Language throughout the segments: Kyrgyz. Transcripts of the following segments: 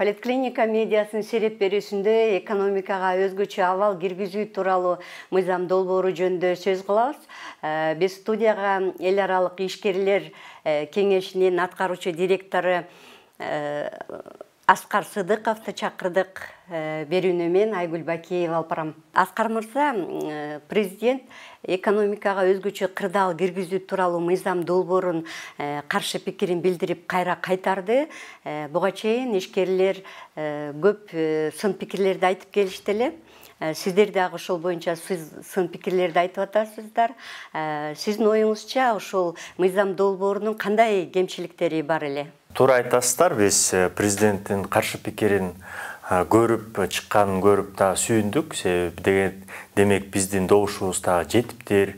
Поликлиника медиасынын сереп берүүсүндө экономикага өзгөчө абал киргизүү тууралуу мыйзам долбоору жөнүндө сөз кылабыз. Биз студияга эл аралык ишкерлер кеңешинин аткаруучу директору Аскар Сыдыковду чакырдык. Берүүнү мен Айгүл Бакиева алып барам. Аскар мырза, президент экономикага өзгөчө кырдаал киргизүү тууралуу мыйзам долбоорун каршы пикирин билдирип кайра кайтарды. Буга чейин ишкерлер көп сын пикирлерди айтып келишти эле. Сиздер дагы ошол боюнча сын пикирлерди айтып атасыздар. Сиздин оюңузча ошол мыйзам долбоорунун кандай кемчиликтери бар эле? Туура айтасыздар, биз президенттин каршы пикирин көрүп чыкканын көрүп да сүйүндүк. Демек биздин добушубуз да жетиптир.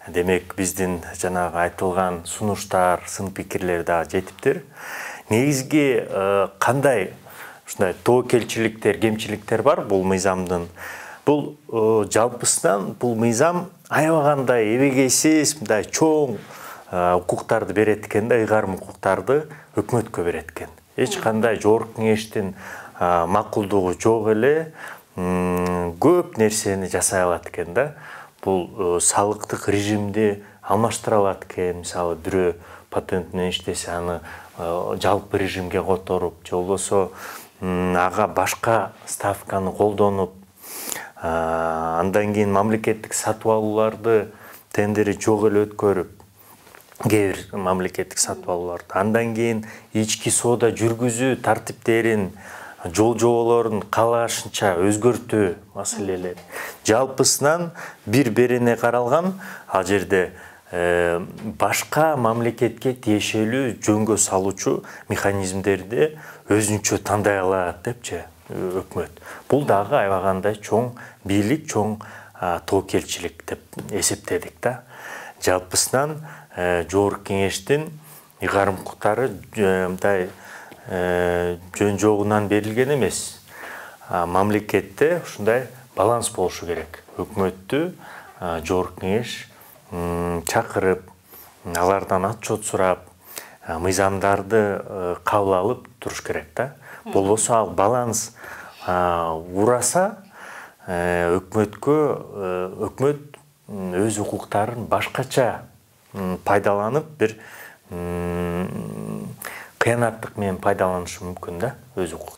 Демек биздин жанагы айтылган сунуштар, сын пикирлер да жетиптир. Негизги кандай ушундай тобокелчиликтер, кемчиликтер бар бул мыйзамдын? Бул жалпысынан бул мыйзам аябагандай эбегейсиз, мындай чоң укуктарды берет экен да, ыйгарым укуктарды өкмөткө берет экен. Эч кандай жогорку кеңештин макулдугу жок эле, көп нерсени жасай алат экен да. Бул салыктык режимди алмаштыра алат экен. Мисалы, бирөө патент менен иштесе, аны жалпы режимге которуп, же болбосо ага башка ставканы колдонуп, андан кийин мамлекеттик сатып алууларды тендери жок эле өткөрүп, кээ бир мамлекеттик сатып алууларды, андан кийин ички соода жүргүзүү тартиптерин, жол жоболорун каалашынча өзгөртүү маселелери жалпысынан бир берене каралган. Ал жерде башка мамлекетке тиешелүү жөнгө салуучу механизмдерди өзүнчө тандай алат депчи өкмөт. Бул дагы аябагандай чоң бийлик, чоң тобокелчилик деп эсептедик да. Жалпысынан жогорку кеңештин ыйгарым укуктары мындай жөн жогунан берилген эмес. Мамлекетте ушундай баланс болушу керек. Өкмөттү жогорку кеңеш чакырып, алардан отчет сурап, мыйзамдарды кабыл алып туруш керек да. Болбосо ал баланс ураса, өкмөт өз укуктарын башкача пайдаланып, бир кыянаттык менен пайдаланышы мүмкүн да, өз укуктарын.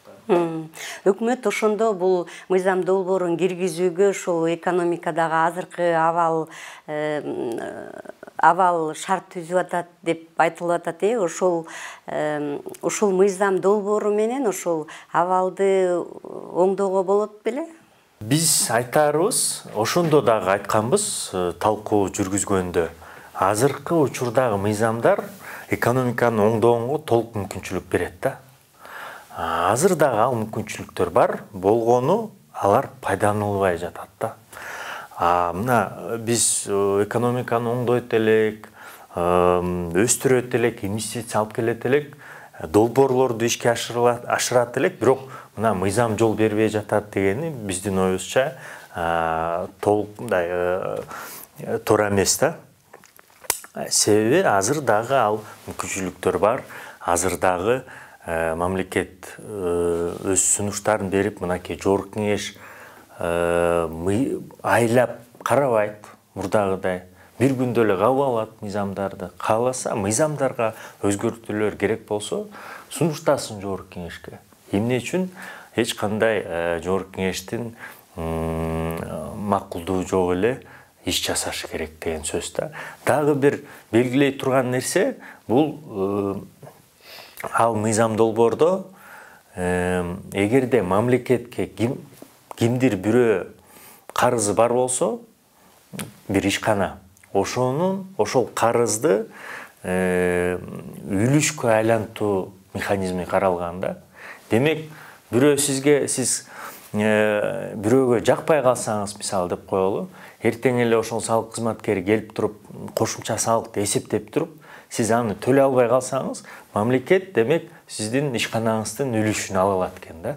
Өкмөт ошондо бул мыйзам долбоорун киргизүүгө ошол экономикадагы азыркы абал шарт түзүп атат деп айтылып атат. Ошол мыйзам долбоору менен ошол абалды оңдоого болот беле? Биз айтарыбыз, ошондо дагы айтканбыз талкуу жүргүзгөндө. Азыркы учурдагы мыйзамдар экономиканы оңдоого толук мүмкүнчүлүк берет да. Азыр дагы ал мүмкүнчүлүктөр бар, болгону алар пайдаланылбай жатат да. Мына биз экономиканы оңдойт элек, өстүрөт элек, инвестиция алып келет элек, долбоорлорду ишке ашырат элек, бирок мына мыйзам жол бербей жатат дегени биздин оюбузча толук мындай туура эмес да. Себеби азыр дагы ал мүмкүнчүлүктөр бар. Азыр дагы мамлекет өз сунуштарын берип, мынакей жогорку кеңеш айлап карабайт мурдагыдай. Бир күндө эле кабыл алат мыйзамдарды. Кааласа мыйзамдарга өзгөртүүлөр керек болсо, сунуштасын жогорку кеңешке. Эмне үчүн эч кандай жогорку кеңештин макулдугу жок эле иш жасашы керек деген сөз да. Дагы бир белгилей турган нерсе, бул ал мыйзам долбоордо эгерде мамлекетке кимдир бирөө карызы бар болсо, бир ишкана, ошол карызды үлүшкө айлантуу механизми каралган да. Демек, бирөө сиз бирөөгө жакпай калсаңыз, мисалы деп коелу, эртең эле ошол салык кызматкери келип туруп, кошумча салыкты эсептеп туруп, сиз аны төлөй албай калсаңыз, мамлекет демек сиздин ишканаңыздын үлүшүн ала алат экен да.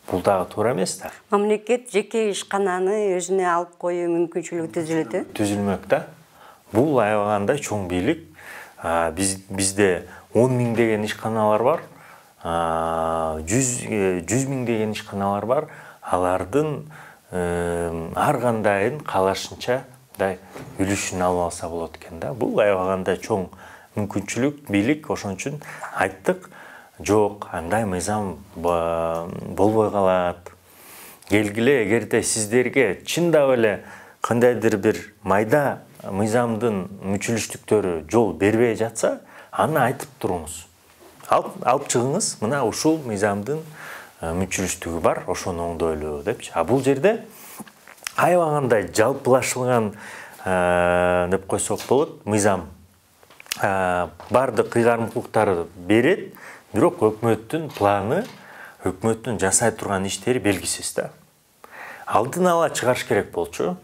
Бул дагы туура эмес да. Мамлекет жеке ишкананы өзүнө алып коюу мүмкүнчүлүгү түзүлөт. Түзүлмөк да. Бул аябагандай чоң бийлик. Бизде 10 000 деген ишканалар бар. 100 миңдеген ишканалар бар. Алардын ар кандайын каалашынча мындай үлүшүн алып алса болот экен да. Бул аябаганда чоң мүмкүнчүлүк, бийлик. Ошон үчүн айттык, жок, андай мыйзам болбой калат. Келгиле, эгерде сиздерге чындап эле кандайдыр бир майда мыйзамдын мүчүлүштүктөрү жол бербей жатса, аны айтып туруңуз. Алып чыгыңыз, мына ушул мыйзамдын мүчүлүштүгү бар, ошону оңдойлу депчи. Бул жерде аябагандай жалпылашылган деп койсок болот, мыйзам бардык ыйгарымдуулуктарды берет, бирок өкмөттүн планы, өкмөттүн жасай турган иштери белгисиз да. Алдын ала чыгарыш керек болчу.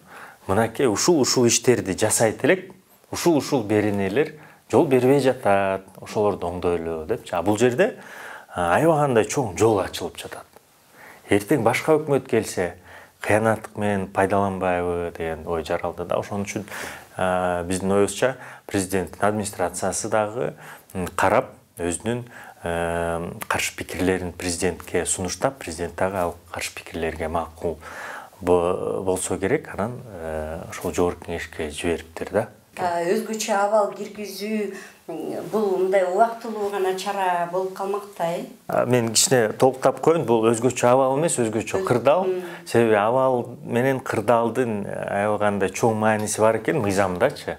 Мынакей ушул иштерди жасайт элек, ушул беренелер жол бербей жатат, ошолорду оңдойлу депчи. Бул жерде аябагандай чоң жол ачылып жатат. Эртең башка өкмөт келсе, кыянаттык менен пайдаланбайбы деген ой жаралды да. Ошон үчүн биздин оюбузча президенттин администрациясы дагы карап, өзүнүн каршы пикирлерин президентке сунуштап, президент дагы ал каршы пикирлерге макул болсо керек, анан ошол жогорку кеңешке жибериптир да. Өзгөчө абал киргизүү бул мындай убактылуу гана чара болуп калмакта, Мен кичине толуктап коеюн, бул өзгөчө абал эмес, өзгөчө кырдаал. Себеби абал менен кырдаалдын аябагандай чоң мааниси бар экен мыйзамдачы.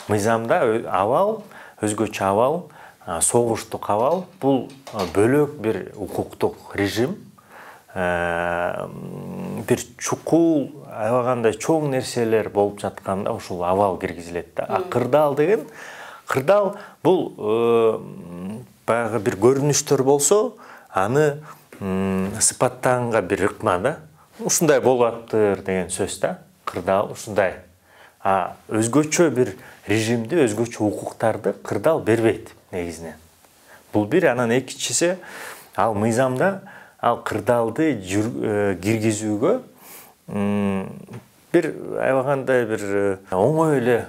Мыйзамда абал, өзгөчө абал, согуштук абал, бул бөлөк бир укуктук режим. Бир чукул аябагандай чоң нерселер болуп жатканда ушул абал киргизилет да. Кырдаал деген, кырдаал бул баягы бир көрүнүштөр болсо, аны сыпаттаганга бир ыкма да. Ушундай болуптыр деген сөз да. Кырдаал ушундай. Өзгөчө бир режимди, өзгөчө укуктарды кырдаал бербейт негизинен. Бул бир, анан экинчиси, ал мыйзамда ал кырдаалды киргизүүгө бир аябагандай бир оңой эле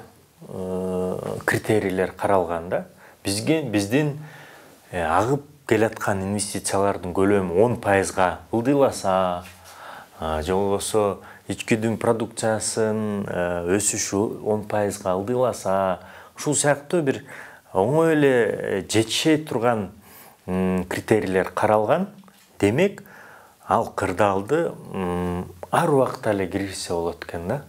критерийлер каралган да. Биздин агып келаткан инвестициялардын көлөмү 10%га ылдыйласа, же болбосо ичкидин продукциясынын өсүшү 10%га ылдыйласа, ушул сыяктуу бир оңой эле жетишей турган критерийлер каралган. Демек, ал кырдаалды ар убакта эле киргизсе болот экен да.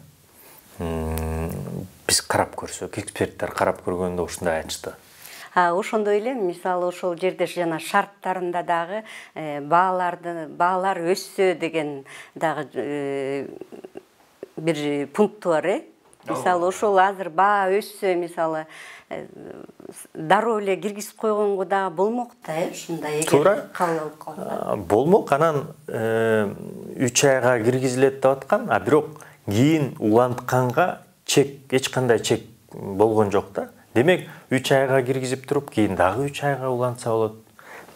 Биз карап көрсөк, эксперттер карап көргөндө ушундай айтышты. Ошондой эле, мисалы ошол жерде жана шарттарында дагы баалар өссө деген дагы бир пункту бар, Мисалы ошол азыр баа өссө, мисалы дароо эле киргизип койгонго дагы болмок да, ушундай эгер кабыл алып калса. Болмок, анан 3 айга киргизилет деп аткан, бирок кийин улантканга эч кандай чек болгон жок да. Демек 3 айга киргизип туруп, кийин дагы 3 айга улантса болот.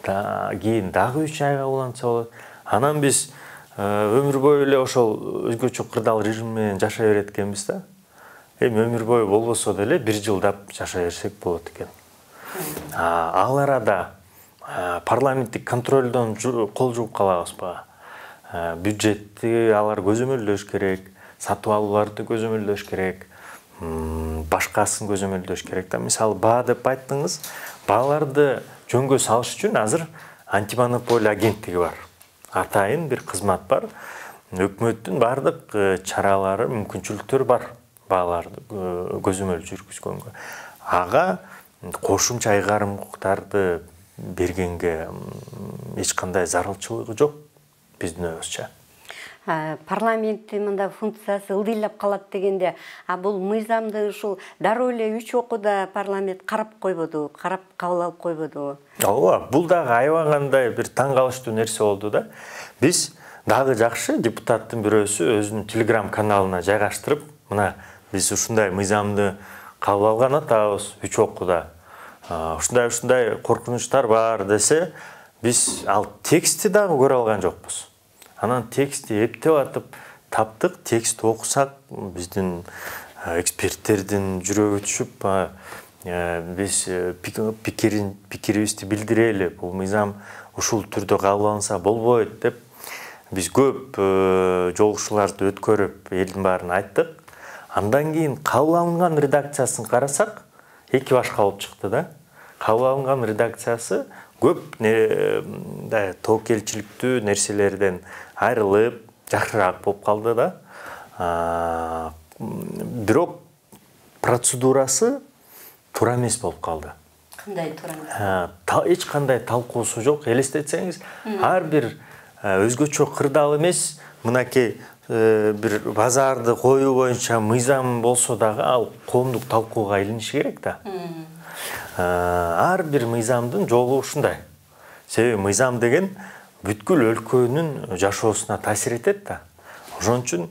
Кийин дагы 3 айга улантса болот. Анан биз өмүр бою эле ошол өзгөчө кырдаал режим менен жашай берет экенбиз да. Өмүр бою болбосо деле 1 жылдап жашай берсек болот экен. Ал арада парламенттик контролдон кол жууп калабызбы? Бюджетти алар көзөмөлдөш керек, сатып алууларды көзөмөлдөш керек, башкасын көзөмөлдөш керек да. Мисалы, баа деп айттыңыз, бааларды жөнгө салыш үчүн азыр антимонополия агенттиги бар. Атайын бир кызмат бар. Өкмөттүн бардык чаралары, мүмкүнчүлүктөрү бар бааларды көзөмөл жүргүзгөнгө. Ага кошумча айгарымдуулуктарды бергенге эч кандай зарылчылыгы жок биздин оюбузча. Парламенттин мындай функциясы ылдыйлап калат дегенде, бул мыйзамды ушул дароо эле 3 окууда парламент карап койбоду, карап кабыл алып койбоду? Ооба, бул дагы аябагандай бир таң калыштуу нерсе болду да. Биз дагы жакшы депутаттын бирөөсү өзүнүн Telegram каналына жайгаштырып, мына биз ушундай мыйзамды кабыл алган атабыз 3 окууда. Ушундай коркунучтар бар десе, биз ал текстти дагы көрө алган жокпуз. Анан текстти эптеп атып таптык, текстти окусак, биздин эксперттердин жүрөгү түшүп, биз пикирибизди билдирели. Бул мыйзам ушул түрдө кабыл алынса болбойт деп биз көп жолугушууларды өткөрүп элдин баарына айттык. Андан кийин кабыл алынган редакциясын карасак, эки башка болуп чыкты да. Кабыл алынган редакциясы көп тобокелчиликтүү нерселерден айрылып, жакшыраак болуп калды да. Бирок процедурасы туура эмес болуп калды. Кандай туура эмес? Эч кандай талкуусу жок. Элестетсеңиз, ар бир өзгөчө кырдаал эмес, мынакей бир базарды коюу боюнча мыйзам болсо дагы ал коомдук талкууга илиниши керек да. Ар бир мыйзамдын жолу ушундай. Себеби мыйзам деген бүткүл өлкөнүн жашоосуна таасир этет да. Ошон үчүн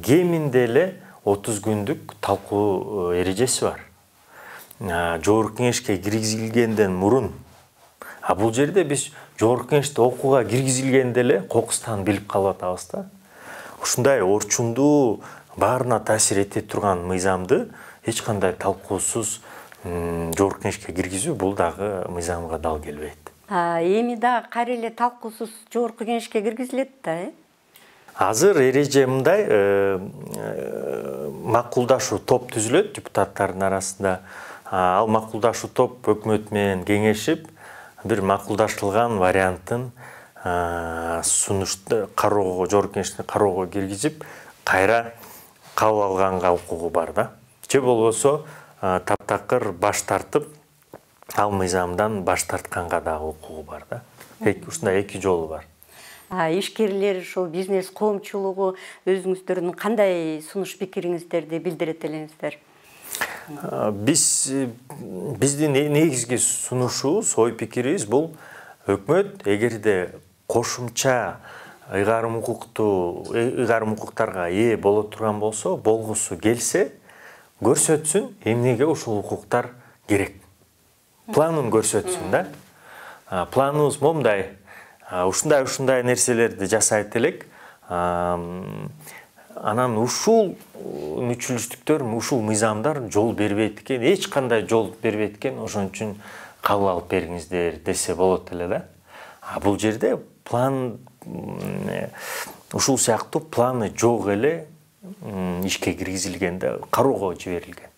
кеминде эле 30 күндүк талкуу эрежеси бар. Жогорку кеңешке киргизилгенден мурун. Бул жерде биз жогорку кеңеште окууга киргизилгенде эле кокустан билип калып атабыз да. Ушундай орчундуу баарына таасир эте турган мыйзамды эч кандай талкуусуз жогорку кеңешке киргизүү бул дагы мыйзамга дал келбейт. Эми да кайра эле талкуусуз жогорку кеңешке киргизилет да, Азыр эреже мындай, макулдашуу топ түзүлөт депутаттардын арасында. Ал макулдашуу топ өкмөт менен кеңешип, бир макулдаштырылган вариантын сунушту кароого, жогорку кеңештин кароого киргизип, кайра кабыл алганга укугу бар да. Же болбосо таптакыр баш тартып, ал мыйзамдан баш тартканга дагы укугу бар да. Ушундай эки жолу бар. Ишкерлер, ошол бизнес коомчулугу өзүңүздөрдүн кандай сунуш пикириңиздерди билдирет элеңиздер? Биздин негизги сунушубуз, ой пикирибиз бул өкмөт эгерде кошумча ыйгарым укуктарга ээ боло турган болсо, болгусу келсе, көрсөтсүн эмнеге ушул укуктар керек. Планын көрсөтсүн да. Планыбыз момундай. Ушундай нерселерди жасайт элек. Анан ушул мүчүлүштүктөр, ушул мыйзамдар жол бербейт экен, эч кандай жол бербейт экен, ошон үчүн кабыл алып бериңиздер десе болот эле да. Бул жерде план ушул сыяктуу планы жок эле ишке киргизилгенде кароого жиберилген.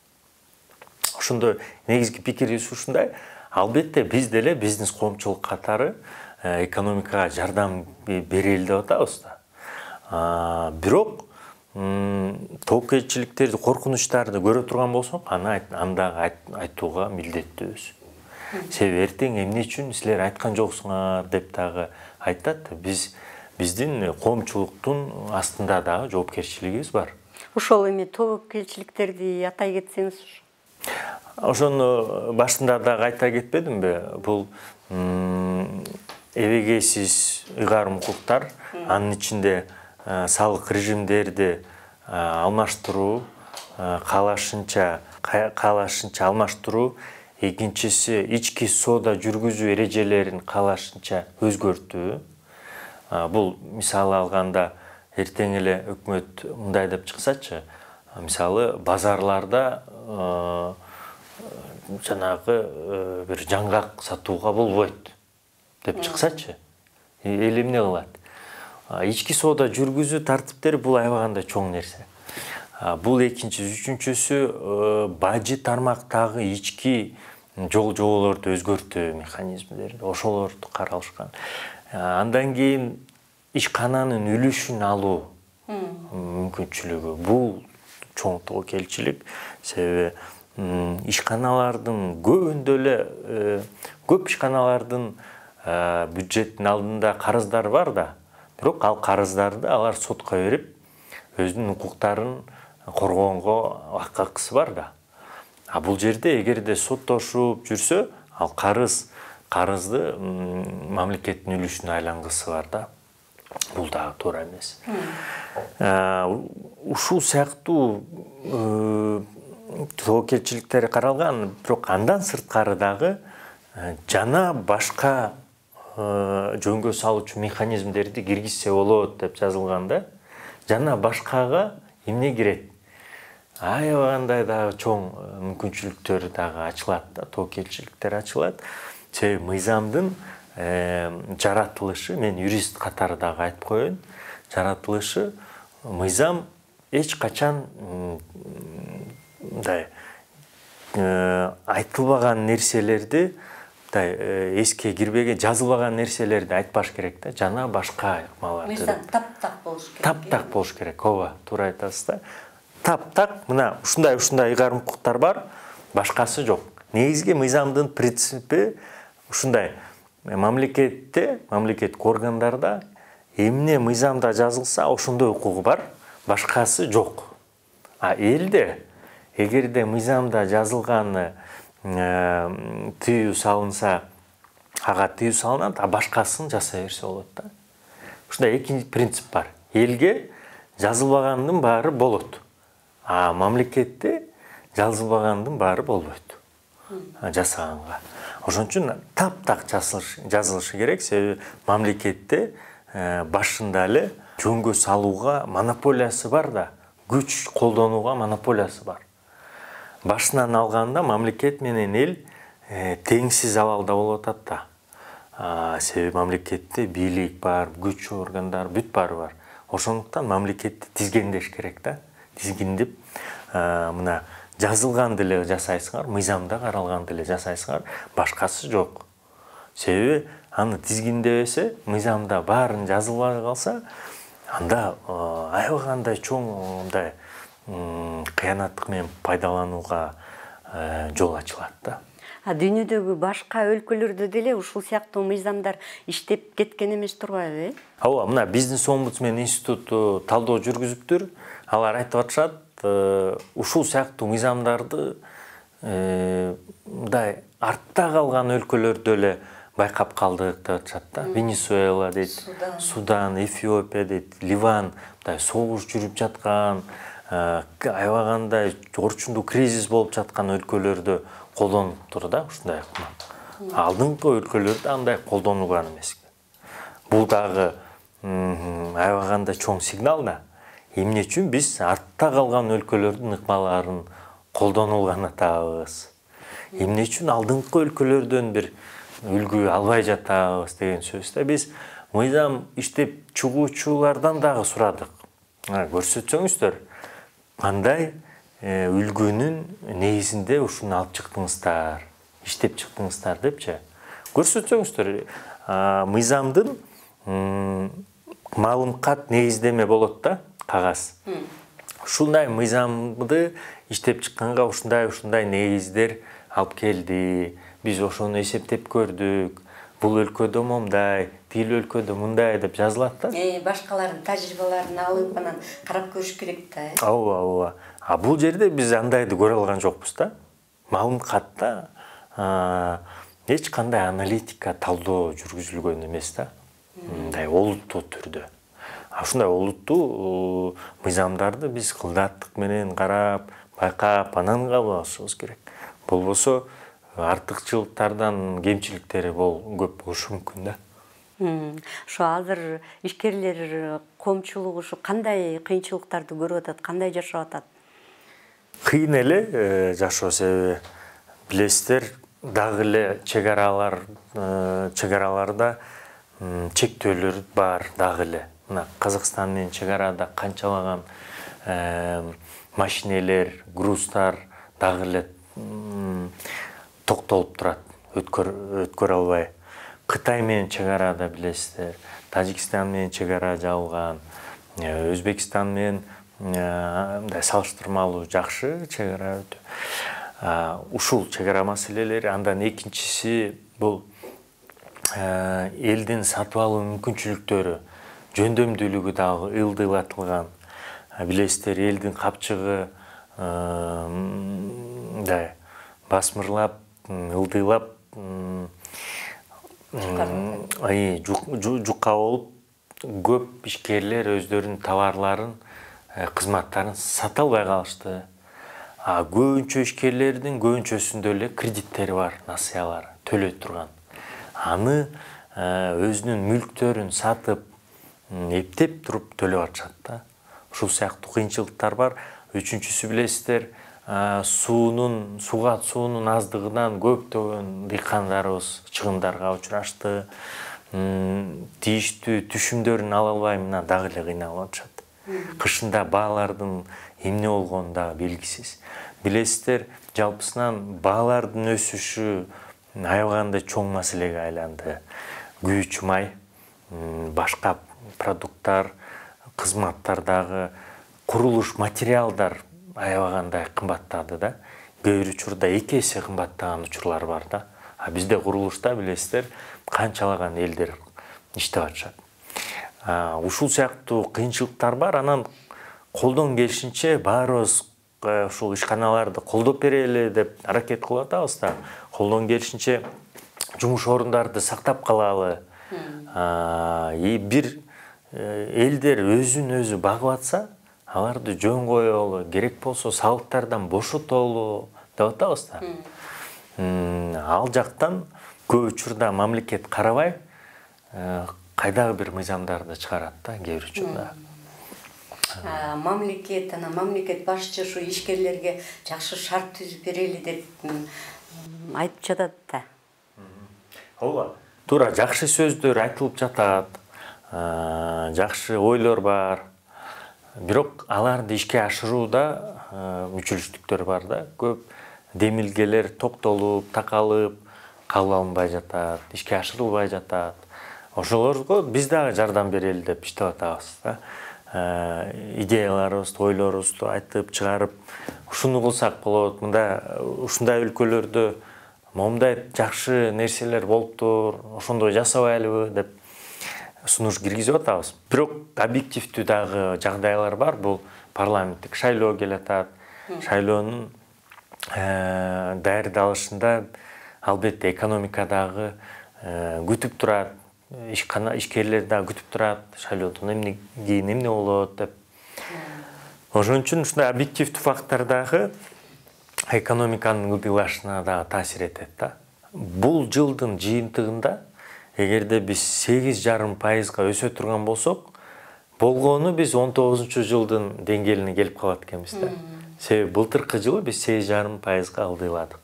Ошондо негизги пикирибиз ушундай. Албетте биз деле бизнес коомчулук катары экономикага жардам берели деп атабыз да. Бирок тобокелчиликтерди, коркунучтарды көрө турган болсок, анда айтууга милдеттүүбүз. Себеби эртең эмне үчүн силер айткан жоксуңар деп дагы айтат. Биздин коомчулуктун астында дагы жоопкерчилигибиз бар. Ошол эми тобокелчиликтерди атай кетсеңиз. Ошону башында дагы айта кетпедимби? Бул эбегейсиз ыйгарым укуктар, анын ичинде салык режимдерди алмаштыруу, каалашынча алмаштыруу, экинчиси ички соода жүргүзүү эрежелерин каалашынча өзгөртүү. Бул мисалы алганда эртең эле өкмөт мындай деп чыксачы, мисалы базарларда жанагы бир жаңгак сатууга болбойт деп чыксачы, эл эмне кылат? Ички соода жүргүзүү тартиптери бул аябагандай чоң нерсе. Бул экинчиси, үчүнчүсү бажы тармактагы ички жоболорду өзгөртүү механизмдери, ошолорду каралышкан. Андан кийин ишкананын үлүшүн алуу мүмкүнчүлүгү. Бул чоң тобокелчилик, себеби ишканалардын көбүндө эле көп ишканалардын бюджеттин алдында карыздары бар да. Бирок ал карыздарды алар сотко берип, өзүнүн укуктарын коргоонго акысы бар да. Бул жерде эгерде соттошуп жүрсө, ал карызды мамлекеттин үлүшүнө айлангысы бар да. Бул дагы туура эмес. Ушул сыяктуу тобокелчиликтер каралган, бирок андан сырткары дагы жана башка жөнгө салуучу механизмдерди киргизсе болот деп жазылган да. Жана башкага эмне кирет? Аябагандай дагы чоң мүмкүнчүлүктөр дагы ачылат да, тобокелчиликтер ачылат. Себеби мыйзамдын жаратылышы, мен юрист катары дагы айтып коеюн, жаратылышы мыйзам эч качан мындай айтылбаган нерселерди, эске кирбеген, жазылбаган нерселерди айтпаш керек да, жана башка ыкмаларды. Мыйзам таптак болуш керек. Таптак болуш керек, ооба, туура айтасыз да. Таптак, мына ушундай ыйгарым укуктар бар, башкасы жок. Негизги мыйзамдын принципи ушундай. Мамлекеттик органдарда эмне мыйзамда жазылса, ошондой укугу бар, башкасы жок. А элде эгерде мыйзамда жазылганы тыюу салынса, ага тыюу салынат, а башкасын жасай берсе болот да. Ушундай эки принцип бар. Элге жазылбагандын баары болот, а мамлекетте жазылбагандын баары болбойт жасаганга. Ошон үчүн таптак жазылышы керек, себеби мамлекетте башында эле жөнгө салууга монополиясы бар да, күч колдонууга монополиясы бар. Башынан алганда мамлекет менен эл теңсиз абалда болуп атат да. Себеби мамлекетте бийлик бар, күч органдар бүт баары бар. Ошондуктан мамлекетти тизгендеш керек да. Тизгиндеп, мына жазылган деле жасайсыңар, мыйзамда каралган деле жасайсыңар, башкасы жок. Себеби аны тизгиндебесе, мыйзамда баарын жазылбай калса, анда аябагандай чоң мындай кыянаттык менен пайдаланууга жол ачылат да. Дүйнөдөгү башка өлкөлөрдө деле ушул сыяктуу мыйзамдар иштеп кеткен эмес турбайбы? Ооба, мына бизнес-омбудсмен институту талдоо жүргүзүптүр. Алар айтып атышат, ушул сыяктуу мыйзамдарды мындай артта калган өлкөлөрдө эле байкап калдык деп атышат да. Венесуэла дейт, Судан, Эфиопия дейт, Ливан, мындай согуш жүрүп жаткан, аябагандай орчундуу кризис болуп жаткан өлкөлөрдө колдонуптур да ушундай ыкма. Алдыңкы өлкөлөрдө андай колдонулган эмес. Бул дагы аябагандай чоң сигнал да. Эмне үчүн биз артта калган өлкөлөрдүн ыкмаларын колдонулган атабыз? Эмне үчүн алдыңкы өлкөлөрдөн бир үлгү албай жатабыз деген сөз да. Биз мыйзам иштеп чыгуучулардан дагы сурадык. Көрсөтсөңүздөр, кандай үлгүнүн негизинде ушуну алып чыктыңыздар, иштеп чыктыңыздар депчи. Көрсөтсөңүздөр, мыйзамдын малым кат негиздеме болот да, кагаз. Ушундай мыйзамды иштеп чыкканга ушундай негиздер алып келди. Биз ошону эсептеп көрдүк. Бул өлкөдө момдай, тил өлкөдө мындай деп жазылат да. Башкалардын тажрыйбаларын алып анан карап көрүш керек да. Ооба. А бул жерде биз андайды көрө алган жокпуз да. Малым катта эч кандай аналитика, талдоо жүргүзүлгөн эмес да. Мындай олуттуу түрдө. Ушундай олуттуу мыйзамдарды биз кылдаттык менен карап, байкап, анан кабыл алышыбыз керек. Болбосо артыкчылыктардан кемчиликтери көп болушу мүмкүн да. Ушу азыр ишкерлер коомчулугу ушу кандай кыйынчылыктарды көрүп атат, кандай жашап атат? Кыйын эле жашоо, себеби билесиздер, дагы эле чегараларда чектөөлөр бар дагы эле. Мына Казакстан менен чегарада канчалаган машинелер, груздар дагы эле токтолуп турат, өткөрө албай. Кытай менен чегарада билесиздер, Тажикстан менен чегара жабылган, Өзбекстан менен мындай салыштырмалуу жакшы чегара өтө. Ушул чегара маселелери, андан экинчиси бул элдин сатып алуу мүмкүнчүлүктөрү, жөндөмдүүлүгү дагы ылдыйлатылган. Билесиздер, элдин капчыгы мындай басмырлап, ылдыйлап, жукка болуп, көп ишкерлер өздөрүнүн товарларын, кызматтарын сата албай калышты. Көбүнчө ишкерлердин көбүнчөсүндө эле кредиттери бар, насыялары төлөй турган. Аны өзүнүн мүлктөрүн сатып, эптеп туруп төлөп атышат да. Ушул сыяктуу кыйынчылыктар бар. Үчүнчүсү билесиздер, суунун аздыгынан көптөгөн дыйкандарыбыз чыгымдарга учурашты. Тийиштүү түшүмдөрүн ала албай мына дагы эле кыйналып атышат. Кышында баалардын эмне болгону дагы белгисиз. Билесиздер, жалпысынан баалардын өсүшү аябагандай чоң маселеге айланды. Күйүүчү май, башка продукттар, кызматтардагы курулуш материалдар аябагандай кымбаттады да. Кээ бир учурда 2 эсе кымбаттаган учурлар бар да. А бизде курулушта билесиздер, канчалаган элдер иштеп атышат. Ушул сыяктуу кыйынчылыктар бар. Анан колдон келишинче баарыбыз ушул ишканаларды колдоп берели деп аракет кылып атабыз да. Колдон келишинче жумуш орундарды сактап калалы. Бир элдер өзүн өзү багып атса, аларды жөн коелу, керек болсо салыктардан бошотолу деп атабыз да. Ал жактан көп учурда мамлекет карабай, кайдагы бир мыйзамдарды чыгарат да, кээ бир учурда. Мамлекет башчы ушу ишкерлерге жакшы шарт түзүп берели деп айтып жатат да. Ооба, туура жакшы сөздөр айтылып жатат, жакшы ойлор бар. Бирок аларды ишке ашырууда мүчүлүштүктөр бар да. Көп демилгелер токтолуп, такалып кабыл алынбай жатат, ишке ашырылбай жатат. Ошолорго биз дагы жардам берели деп иштеп атабыз да. Идеяларыбызды, ойлорубузду айтып чыгарып, ушуну кылсак болот, мында ушундай өлкөлөрдө момундай жакшы нерселер болуптур, ошондой жасабайлыбы деп сунуш киргизип атабыз. Бирок объективдүү дагы жагдайлар бар. Бул парламенттик шайлоо келатат. Шайлоонун даярдалышында албетте экономика дагы күтүп турат, ишкерлер дагы күтүп турат, шайлоодон кийин эмне болот деп. Ошон үчүн ушундай объективдүү фактор дагы экономиканын ылдыйлашына дагы таасир этет да. Бул жылдын жыйынтыгында эгерде биз 8,5% өсө турган болсок, болгону биз 19 жылдын деңгээлине келип калат экенбиз да. Себеби былтыркы жылы биз 8,5% ылдыйладык.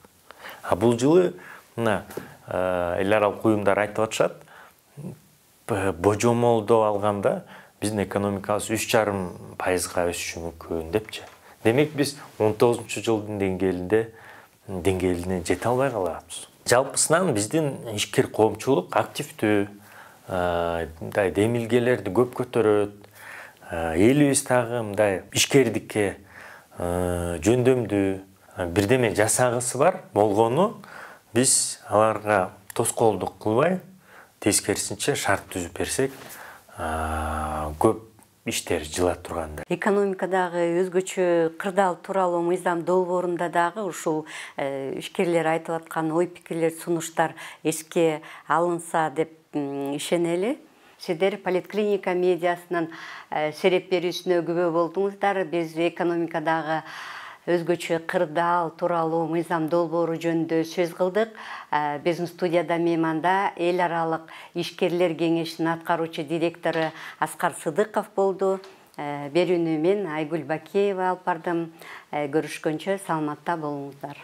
А бул жылы мына эл аралык уюмдар айтып атышат, божомолдоо алганда биздин экономикабыз 3,5% өсүшү мүмкүн депчи. Демек биз 19 жылдын деңгээлине жете албай калабыз. Жалпысынан биздин ишкер коомчулук активдүү, мындай демилгелерди көп көтөрөт. Элибиз дагы мындай ишкердикке жөндөмдүү бирдеме жасагысы бар болгону биз аларга тоскоолдук кылбай, тескерисинче шарт түзүп берсек, көп иштер жыла турганда. Экономикадагы өзгөчө кырдаал тууралуу мыйзам долбоорунда дагы ушул ишкерлер айтып аткан ой пикирлер, сунуштар эске алынса деп ишенели. Сиздер Политклиника медиасынын сереп берүүсүнө күбө болдуңуздар. Биз экономикадагы өзгөчө кырдаал тууралуу мыйзам долбоору жөнүндө сөз кылдык. Биздин студияда мейманда эл аралык ишкерлер кеңешинин аткаруучу директору Аскар Сыдыков болду. Берүүнү мен Айгүл Бакиева алып бардым. Көрүшкөнчө саламатта болуңуздар.